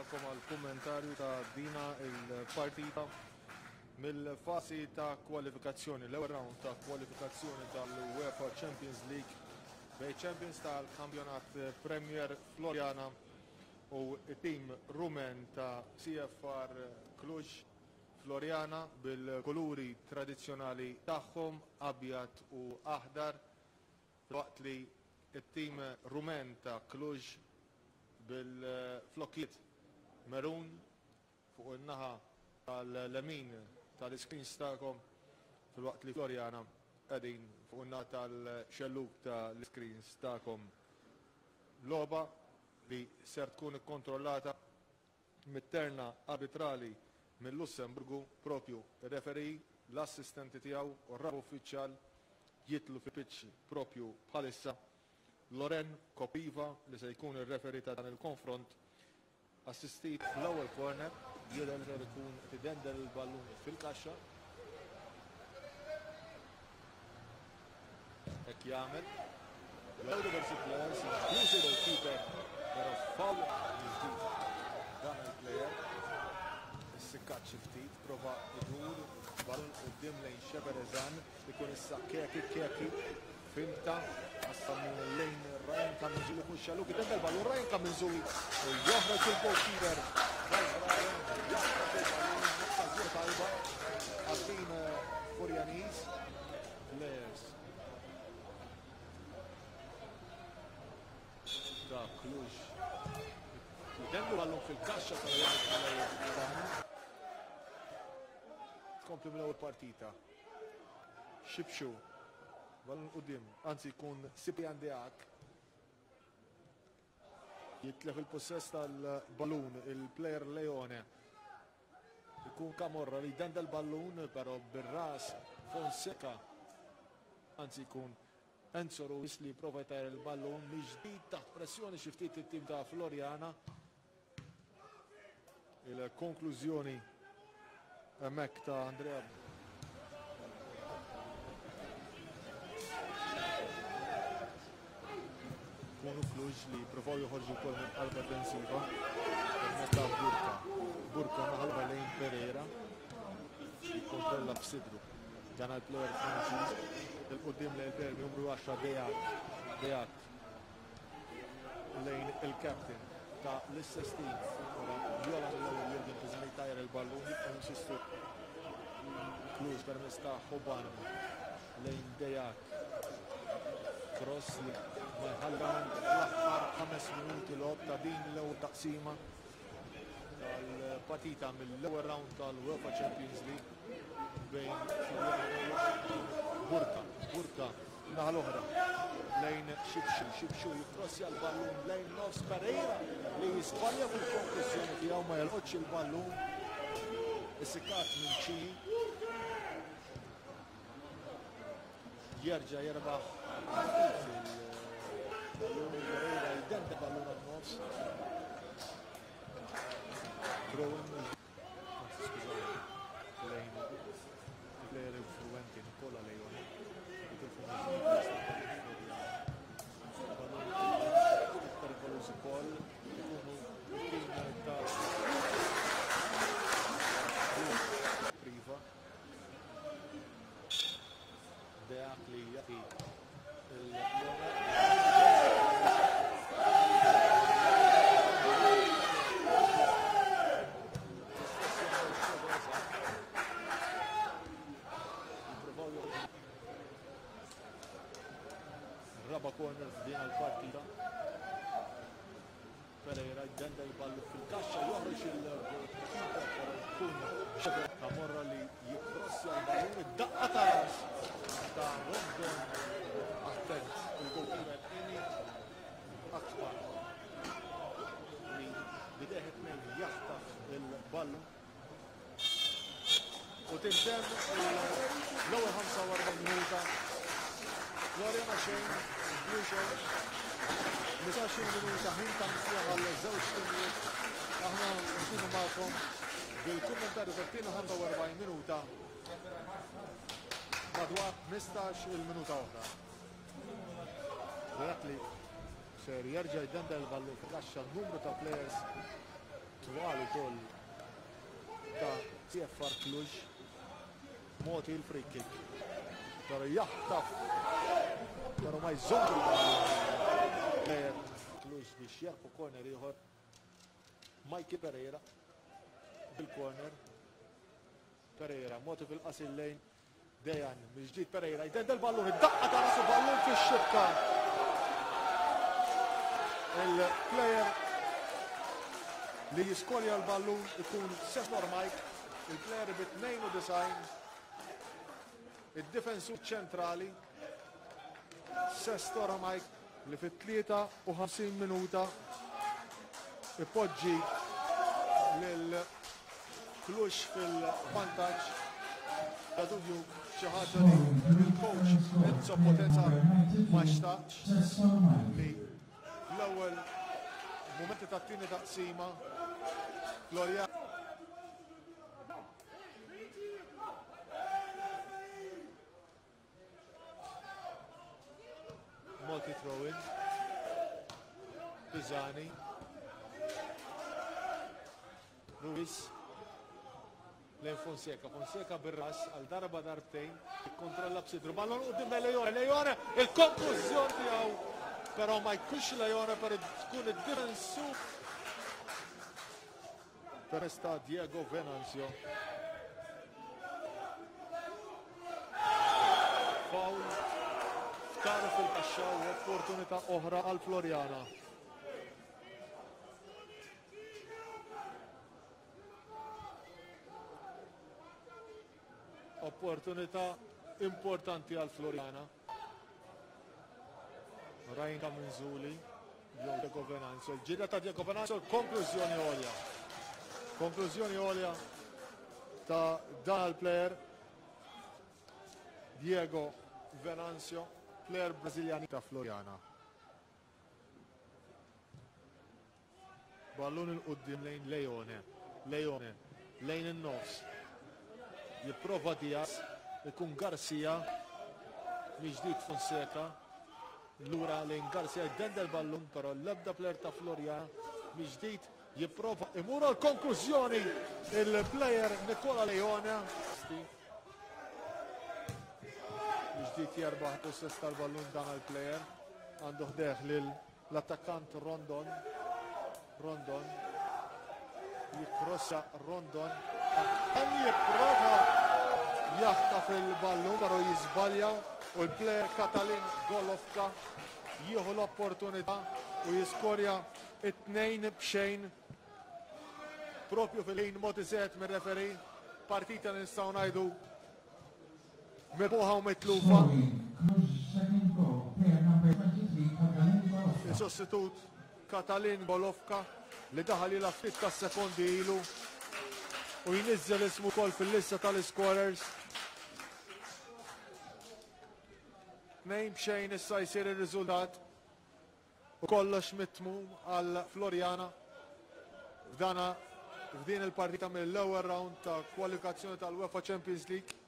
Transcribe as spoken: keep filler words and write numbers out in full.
magħkom għal kummentarju ta' dina il-partita mill-fasi ta' kwalifikazzjoni, l-ewwel round ta' kwalifikazzjoni tal-UEFA Champions League bejn Champions tal-Kampjonat Premier Floriana u it-tim Rumen ta' C F R Cluj. Floriana bil-kuluri tradizzjonali tagħhom abjad u aħdar, waqt li it-tim Rumen ta' Cluj bil-flokkiet merun fuq in-naħa tal-lemin tal-iscreens tagħkom, filwaqt li Floriana qegħdin fuq in-naħa tal-xelluk tal-iscreens tagħkom. Logħba li ser tkun ikkontrollata mit-terna arbitrali mill-Lussemburgu, propju ir-referee, l-assistenti tiegħu u r-raba uffiċjal jitlu fi pitch propju bħalissa. Loren Kopiva li se jkun ir-referee ta' dan il-konfront, assistit fl-ewwel corner, jidher li ser ikun tidendel il-ballun fil-kaxxa. Hekk jagħmel. L-ewwel diversi players, inkluż il-goalkeeper, però foul ġdid dan il-player. Issikkat xi ftit, prova idur ballun quddiem lejn Xeberezan, ikun issa Keki, Keki finta, qassam lejn Ryan Kamizuli fuq xaluk, idendel ballun Ryan Kamizuli u joħroġ il-goalkeeper. Ryan jaħrab il-ballun, okkażjoni tajba għat-tim Furjaniż. Players ta' Cluj jidendlu ballun fil-kaxxa tal-Ryan. Tkompli mill-ewwel partita. Xibxu ballun quddiem, anzi jkun Ciprian Deac jitlef il-possess tal-ballun il-player Leone. Ikun Camorra li jdenda l-ballun però bir-ras Fonseca, anzi jkun Enzo Ruiz li prova jtajjar il-ballun mill-ġdid taħt pressjoni xi ftit it-tim ta' Floriana. Il-konklużjoni hemmhekk ta' Andrea. Kunu Cluj li provaw joħorġu wkoll minn qalba difensiva. Permezz ta' Burka. Burka naħalba lejn Pereira. Jikkontrolla b'sidru. Dan għall-player Franċiż. Il-qudiem lejn il-player numru għaxra Deak. Deak lejn il-captain ta' l-istess team. Ora Viola mill-ewwel Jurgen Pisani tajjar il-ballun, jibqgħu jinsistu Cluj permezz ta' Hoban lejn Deak. Cross li ma jħallan fl-aħħar ħames minuti logħob ta' din l-ewwel taqsima tal-partita mill-ewwel round tal-UEFA Champions League bejn Burka. Burka naħa l-oħra lejn Xibxu. Xibxu jikrossja l-ballun lejn nofs Pereira li jisbalja fil-konklużjoni tiegħu, ma jolqotx il-ballun. Issikat minn Cini. Jerġa' jerbaħ il-ballun Pereira jdenda ballun għan-nofs. Throw-in, anzi skużawni, lejn il-player influenti Nicola Leone. Jitilfu mill-ġdid perikoluż ukoll ikunu it-tim ta' Priva. Deak li jagħti il-Leone. Raba corner f'din il-partita. Pereira jdenda l-ballu fil-kaxxa, joħroġ il-goalkeeper, però jkun Xavier Camorra li jikrossja l-ballun, id-daqqa ta' ras ta' Rondon. Attent il-goalkeeper Eni Akbar li bideh it-tnejn jaħtaf il-ballun. U tintemm l-ewwel ħamsa u erbgħin minuta. Floriana xejn, Cluj xejn. Ħmistax-il minuta ħin ta' mistrieħ għal żewġ timijiet. Aħna nkunu magħkom bil-kummentarju tat-tieni ħamsa u erbgħin minuta madwar ħmistax-il minuta oħra. Dak li ser jerġa' jdendel il-ballun fil-kaxxa numru ta' players Twal ukoll ta' C F R Cluj. Moti il-free kick. Pero jaħtaf, pero ma jżomm il-player Cluj biex jarfu corner ieħor. Mikey Pereira bil-corner. Pereira, Moti fil-qasil lejn Dejan, mill-ġdid Pereira, jdendel ballun, id-daqqa ta' rasu ballun fix-xibka. Il-player li jiskorja l-ballun ikun Sestor Mike, il-player bi tnejn u disgħin, id-difensur ċentrali Sestor Mike li fit-tlieta u ħamsin minuta ipoġġi lil Cluj fil-vantaġġ. Bla dubju xi ħaġa li l-coach Enzo Potenza ma xtaqx li l-ewwel momenti tat-tieni taqsima Floriana Multi throw-in. Pisani. Ruiz. Lejn Fonseca. Fonseca bir-ras għal darba darbtejn. Ikkontrolla b'sidru. Ballon quddiem Leone. Leone, il-konklużjoni tiegħu. Però ma jkunx Leone, però tkun id-difensur. Permezz ta' Diego Venanzio. Foul f'tarf fil-kaxxa u opportunità oħra għal Floriana. Opportunità importanti għal Floriana. Rajn Kaminzuli, jew Diego Venanzio. Il-ġirja ta' Diego Venanzio, konklużjoni għolja. Konklużjoni għolja ta' dan il-player Diego Venanzio, player Brażiljani ta' Floriana. Ballun il-qoddim lejn Leone, Leone, lejn in-nofs. Jipprova Diaz, ikun Garcia, miġdid Fonseca, lura lejn Garcia, jdendel ballun, però l-ebda player ta' Floriana, miġdid jipprova imur għal konklużjoni il-player Nicola Leone. Miġdid jerbaħ possess tal-ballun dan il-player, għandu ħdejh lil l-attakkant Rondon. Rondon jikrossa Rondon, hemm jipprova jaħtaf il-ballun, però jiżbalja u l-player Katalin Golovka jieħu l-opportunità u jiskorja it-tnejn b'xejn propju fil-ħin mogħti set mir-referee. Partita li nistgħu ngħidu mirbuħa u mitlufa. Il-sostitut Katalin Golovka li daħal ilha ftit ta' sekondi ilu u jniżżel ismu wkoll fil-lista tal-scorers. Tnejn b'xejn issa jsir ir-riżultat u kollox mitmum għal Floriana f'dana f'din il-partita mill-ewwel round ta' kwalifikazzjoni tal-UEFA Champions League.